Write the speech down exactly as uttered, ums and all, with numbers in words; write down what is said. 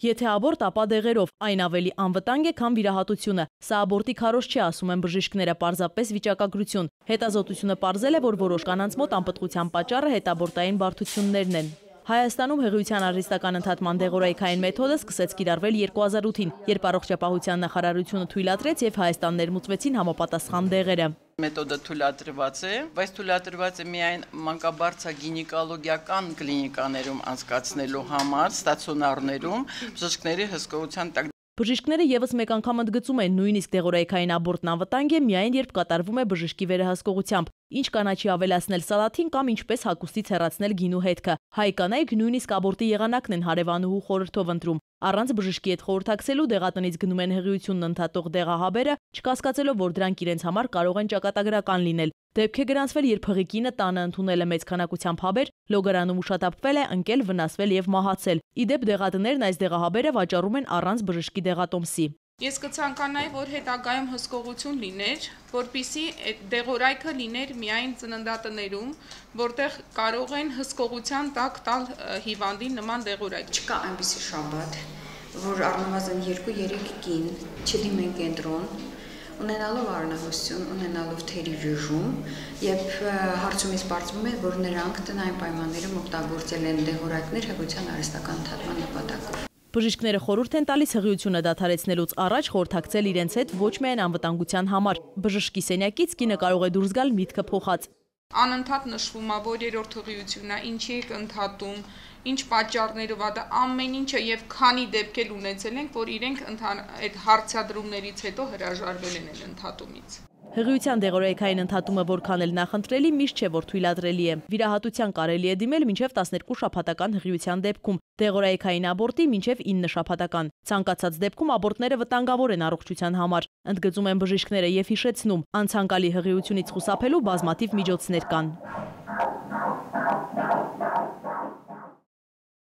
Եթե աբորտ, ապա դեղերով, այն ավելի անվտանգ է, քան վիրահատությունը։ Սա աբորտի քարոզ չի, ասում են բժիշկները, պարզապես վիճակագրություն։ Հետազոտությունը պարզել է, որ որոշ կանանց մոտ անպտղության պատճառը հետաբորտային բարդություններն են։ Հայաստանում հղիության արհեստական ընդհատման դեղորայքային մեթոդը սկսեց կիրառվել երկու հազար ութին, երբ առողջապահության նախարարությունը թույլատրեց եւ Հայաստան ներմուծվեցին համապատասխան դեղերը։ Մեթոդը թույլատրված է, բայց թույլատրված է միայն մանկաբարձագինեկոլոգիական կլինիկաներում անցկացնելու համար, ստացիոնարներում, բժիշկների հսկողության տակ։ Բժիշկները եւս մեկ անգամ ընդգծում են, նույնիսկ դեղորայքային աբորտն անվտանգ է միայն երբ կատարվում է բժշկի վերահսկողությամբ։ Ինչ կանաչի ավելացնել սալաթին կամ ինչպես հագուստից հեռացնել գինու հետքը։ Հայ կանայք նույնիսկ աբորտի եղանակն են հարևանուհու խորհրդով ընտրում։ Առանց բժշկի հետ խորհրդակցելու դեղատնից գնում են հղիությունն ընդհատող դեղահաբերը, չկասկածելով, որ դրանք իրենց համար կարող են ճակատագրական լինել։ Դեպք է գրանցվել, երբ հղի կինը տանը ընդունել է մեծ քանակությամբ հաբեր, լոգարանում ուշադապվել է, ընկել, վնասվել եւ մահացել։ Ի դեպ դեղատներն այս դեղահաբերը վաճառում են առանց բժշկի դեղատոմսի։ Ես կցանկանայի, որ հետագայում հսկողություն լիներ, որպեսզի դեղորայքը լիներ միայն ծննդատներում, որտեղ կարող են հսկողության տակ տալ հիվանդին նման դեղորայք։ Չկա այնպիսի շաբաթ, որ առնվազն երկու-երեք կին չդիմեն կենտրոն, ունենալով արնահոսություն, ունենալով թերի ժժում, եւ հարցումից պարզվում է, որ նրանք տնային պայմաններում օգտագործել են դեղորայքներ հղիության արհեստական ընդհատման նպատակով։ Բժիշկները խորհուրդ են տալիս հղիությունը դադարեցնելուց առաջ խորհրդակցել իրենց հետ ոչ միայն անվտանգության համար։ Բժշկի սենյակից կինը կարող է դուրս գալ միտքը փոխած։ Անընդհատ նշվում է, որ երրորդ հղիությունն է, ինչի եք ընդհատում, ինչ պատճառներով է, դա ամեն ինչը եւ քանի դեպքեր ունեցել ենք, որ իրենք այդ հարցադրումներից հետո հրաժարվել են այդ ընդհատումից։ Հղիության դեղորայքային ընդհատումը որքան էլ նախընտրելի, միշտ չէ, որ թույլատրելի է։ Վիրահատության կարելի է դիմել մինչև տասներկու շաբաթական հղիության դեպքում, դեղորայքային աբորտի մինչև ինը շաբաթական։ Ցանկացած դեպքում աբորտները վտանգավոր են առողջության համար, ընդգծում են բժիշկները եւ հիշեցնում, անցանկալի հղիությունից խուսափելու բազմաթիվ միջոցներ կան։